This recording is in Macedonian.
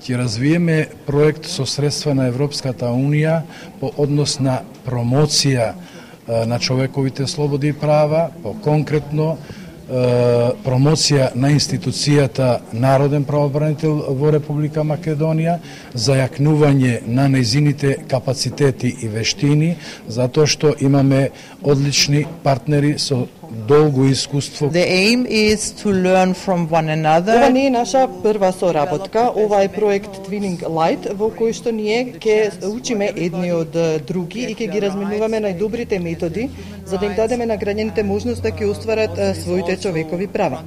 Ќе развиеме проект со средства на Европската Унија по однос на промоција на човековите слободи и права, по конкретно промоција на институцијата Народен правобранител во Република Македонија, зајакнување на нејзините капацитети и вештини, затоа што имаме одлични партнери со долго искуство. The aim is to learn from one another. Ова не е наша прва соработка, ова е проект Twinning Light, во кој што ние ќе учиме едни од други и ќе ги разменуваме најдобрите методи за да им дадеме на граѓаните можност да ќе остварат своите човекови права.